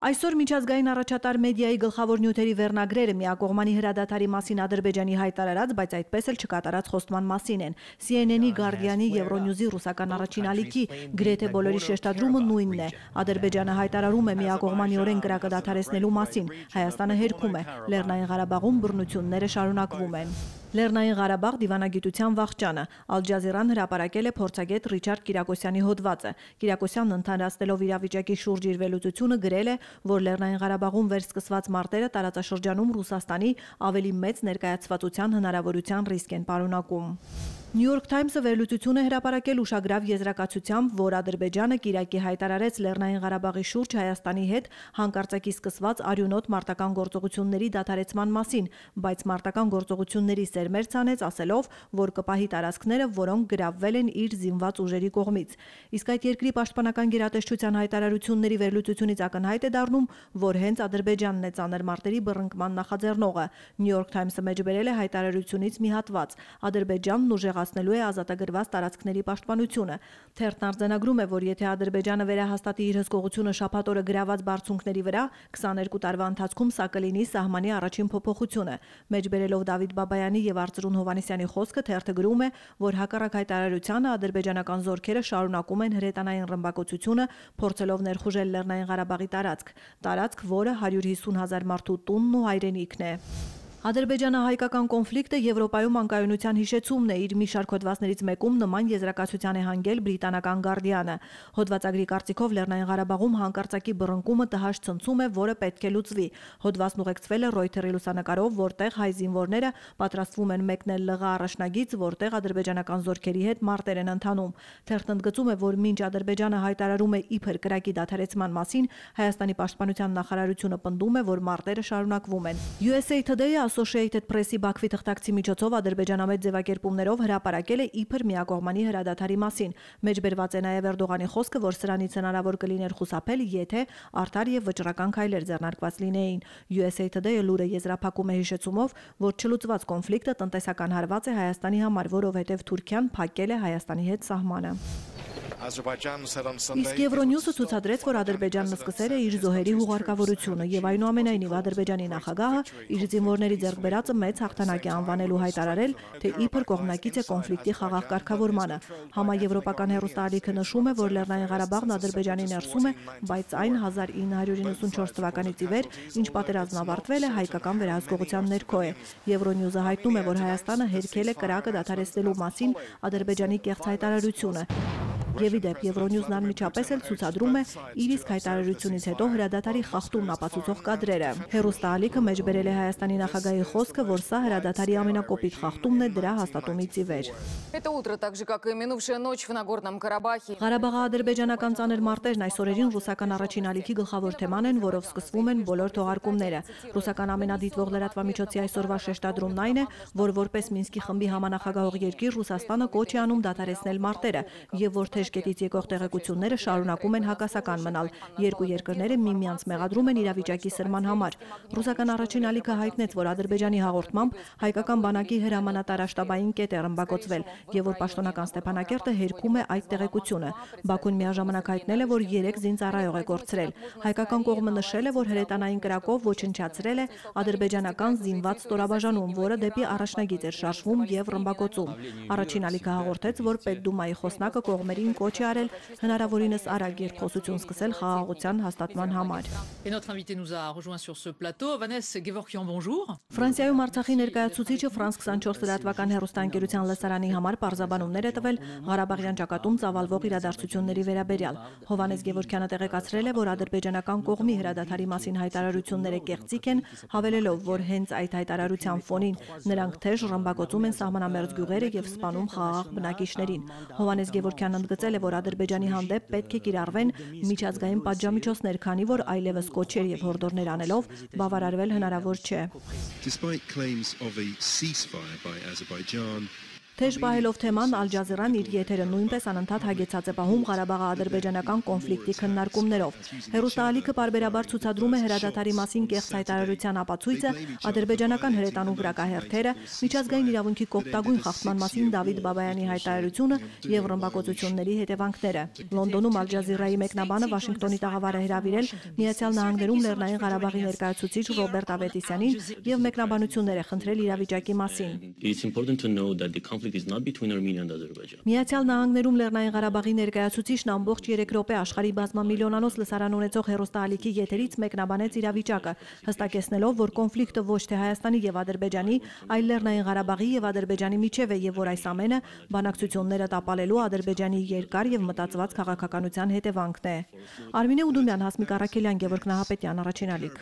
Այսօր միջազգային առաջատար մեդիայի գլխավոր նյութերի վերնագրերը միակողմանի հրադադարի մասին Ադրբեջանի հայտարարած, բայց այդպես էլ չկատարած խոստման մասին են։ CNN-ի, Guardian-ի, Euronews-ի, ռուսական առաջին ալիքի գրեթե բոլորի շեշտադրումը նույնն է։ Ադրբեջանը հայտարարում է միակողմանիորեն կրակը դադարեցնելու մասին։ Հայաստանը հերքում է։ Լեռնային Ղարաբաղում բռնությունները շարունակվում են։ Լեռնային Ղարաբաղ դիվանագիտության վախճանը։ Ալ Ջազիրան հրապարակել է փորձագետ Ռիչարդ Կիրակոսյանի հոդվածը։ Կիրակոսյանն ընդհանրացնելով իրավիճակի շուրջ իր վերլուծությունը գրել է, որ Լեռնային Ղարաբաղում վերսկսված մարտերը տարածաշրջանում Ռուսաստանի ավելի մեծ ներկայացվածության հնարավորության ռիսկ են պարունակում։ New York Times-ը վերլուծություն է հրապարակել ուշագրավ եզրակացությամբ, որ Ադրբեջանը կիրակի հայտարարեց Լեռնային Ղարաբաղի շուրջ Հայաստանի հետ հանկարծակի սկսված արյունոտ մարտական գործողությունների դադարեցման մասին, բայց մարտական գործողությունների սերմեր ցանեց, ասելով, որ կպահի տարածքները, որոնք գրավվել են իր զինված ուժերի կողմից։ Իսկ այդ երկրի պաշտպանական գերատեսչության հայտարարությունների վերլուծությունից ակնհայտ է դառնում, որ հենց Ադրբեջանն է ծանր մարտերի բռնկման նախաձեռնողը։ New York Times-ը մեջբերել է հայտարարությունից մի հատված. Ադրբեջանն ուժեղացնելու է ազատագրված տարածքների պաշտպանությունը։ Թերթն արձանագրում է, որ եթե Ադրբեջանը վերահաստատի իր հսկողությունը շաբաթ օրը գրաված բարձունքների վրա, 22 տարվա ընթացքում սա կլինի սահմանի առաջին փոփոխությունը։ Մեջբերելով Դավիթ Բաբայանի եւ Արծրուն Հովհաննիսյանի խոսքը, թերթը գրում է, որ հակառակ հայտարարությանը ադրբեջանական զորքերը շարունակում են հրետանային ռմբակոծությունը, փորձելով ներխուժել Լեռնային Ղարաբաղի տարածք, որը 150,000 մարդու տունն ու հայրենիքն է։ Ադրբեջանա-հայկական կոնֆլիկտը Եվրոպայում անկայունության հիշեցումն է, իր մի շարք հոդվածներից մեկում նման եզրակացության է հանգել բրիտանական Guardian-ը։ Հոդվածագրի կարծիքով Լեռնային Ղարաբաղում հանկարծակի բռնկումը տհաճ ցնցում է, որը պետք է լուծվի։ Հոդվածն ուղեկցվել է Reuters-ի լուսանկարով, որտեղ հայ զինվորները պատրաստվում են մեկնել ԼՂ առաջնագիծ, որտեղ ադրբեջանական զորքերի հետ մարտեր են ընթանում։ Թերթն ընդգծում է, որ մինչ Ադրբեջանը հայտարարում է իբր կրակի դադարեցման մասին, Հայաստանի պաշտպանության նախարարությունը պնդում է, որ մարտերը շարունակվում են։ USA Today-ը Associated Press-ի Բաքվի թղթակցի միջոցով ադրբեջանամետ ձևակերպումներով հրապարակել է իբր միակողմանի հրադադարի մասին։ Մեջբերված է նաև Էրդողանի խոսքը, որ սրանից հնարավոր կլիներ խուսափել, եթե արդար եւ վճռական քայլեր ձեռնարկված լինեին։ USA Today-ը լուրը եզրափակում է հիշեցումով, որ չլուծված կոնֆլիկտը տնտեսական հարված է Հայաստանի համար, որովհետև Թուրքիան փակել է Հայաստանի հետ սահմանը։ Իսկ Euronews-ը ցուցադրեց, որ Ադրբեջանն սկսել է իր զոհերի հուղարկավորությունը եւ այնուամենայնիվ Ադրբեջանի նախագահը իր զինվորների ձեռքբերածը մեծ հաղթանակ է անվանել ու հայտարարել, թե իբր կողմնակից է կոնֆլիկտի խաղաղ կարգավորմանը։ Համաեվրոպական հեռուստաալիքը նշում է, որ Լեռնային Ղարաբաղն Ադրբեջանի ներսում է, բայց այն 1994 թվականից ի վեր, ինչ պատերազմն ավարտվել է, հայկական վերահսկողության ներքո է։ Euronews-ը հայտնում է, որ Հայաստանը հերքել է կրակը դադարեցնելու մասին Ադրբեջանի կեղծ հայտարարությունը։ Եվ իդեպ Euronews-ն անմիջապես էլ ցուցադրում է իր իսկ հայտարարությունից հետո հրադադարի խախտումն ապացուցող կադրերը։ Հեռուստաալիքը մեջբերել է Հայաստանի նախագահի խոսքը, որ սա հրադադարի ամենակոպիտ խախտումն է դրա հաստատումից ի վեր։ Ղարաբաղի-ադրբեջանական ծանր մարտերն այս օրերին ռուսական առաջին ալիքի գլխավոր թեման են, որով սկսվում են բոլոր թողարկումները։ Ռուսական ամենադիտվող լրատվամիջոցի այսօրվա շեշտադրումն այն է, որ որպես Մինսկի խմբի համանախագահող երկիր Ռուսաստանը կոչ է անում դադարեցնել մարտերը, եւ որ Թեժկետից եկող տեղեկությունները շարունակում են հակասական մնալ։ Երկու երկրները միմյանց մեղադրում են իրավիճակի սրման համար։ Ռուսական առաջին ալիքը հայտնեց, որ Ադրբեջանի հաղորդմամբ հայկական բանակի հրամանատարաշտաբային կետ է ռմբակոծվել եւ որ պաշտոնական Ստեփանակերտը հերքում է այդ տեղեկությունը։ Բաքուն միաժամանակ հայտնել է, որ 3 զինծառայող է կորցրել։ Հայկական կողմը նշել է, որ հրետանային կրակով ոչնչացրել է ադրբեջանական զինված ստորաբաժանում, որը դեպի առաջնագիծ էր շարժվում եւ ռմբակոծում։ Առաջին ալիքը հաղորդեց, որ Պետդումայի խոսնակը կողմերին կոչ է արել հնարավորինս արագ երկխոսություն սկսել խաղաղության հաստատման համար։ Ֆրանսիայում Արցախի ներկայացուցիչը France 24 լրատվական հեռուստաընկերության լսարանի համար պարզաբանումներ է տվել Ղարաբաղյան ճակատում ծավալվող իրադարձությունների վերաբերյալ։ Հովհաննես Գևորգյանը տեղեկացրել է, որ ադրբեջանական կողմի հրադադարի մասին հայտարարությունները կեղծիք են, հավելելով, որ հենց այդ հայտարարության ֆոնին նրանք թեժ ռմբակոծում են սահմանամերձ գյուղերը եւ սպանում խաղաղ բնակիչներին։ Հովհաննես Գևորգյանը ընդգծել է, որ Ադրբեջանի հանդեպ պետք է կիրառվեն միջազգային պատժամիջոցներ, քանի որ այլևս կոչեր եւ հորդորներ անելով բավարարվել հնարավոր չէ։ Թեժ պահելով թեման, Ալ Ջազիրան իր եթերը նույնպես անընդհատ հագեցած է պահում Ղարաբաղի-ադրբեջանական կոնֆլիկտի քննարկումներով։ Հեռուստաալիքը պարբերաբար ցուցադրում է հրադադարի մասին կեղծ հայտարարության ապացույցը, ադրբեջանական հրետանու վրակահերթերը, միջազգային իրավունքի կոպտագույն խախտման մասին Դավիթ Բաբայանի հայտարարությունը եւ ռմբակոծությունների հետևանքները։ Լոնդոնում Ալ Ջազիրայի մեկնաբանը Վաշինգտոնի տաղավար է հրավիրել Միացյալ Նահանգներում Լեռնային Ղարաբաղի ներկայացուցիչ Ռոբերտ Ավետիսյանին եւ մեկնաբանություններ է խնդրել իրավիճակի մասին։ Միացյալ Նահանգներում Լեռնային Ղարաբաղի ներկայացուցիչն ամբողջ 3 րոպե աշխարհի բազմամիլիոնանոց լսարան ունեցող հեռուստաալիքի եթերից մեկնաբանեց իրավիճակը, հստակեցնելով, որ կոնֆլիկտը ոչ թե Հայաստանի եւ Ադրբեջանի, այլ Լեռնային Ղարաբաղի եւ Ադրբեջանի միջև է եւ որ այս ամենը բանակցությունները տապալելու Ադրբեջանի երկար եւ մտածված քաղաքականության հետևանքն է։ Արմինե Ուդումյան, Հասմիկ Առաքելյան, Գևորգ Նահապետյան, Առաջին ալիք։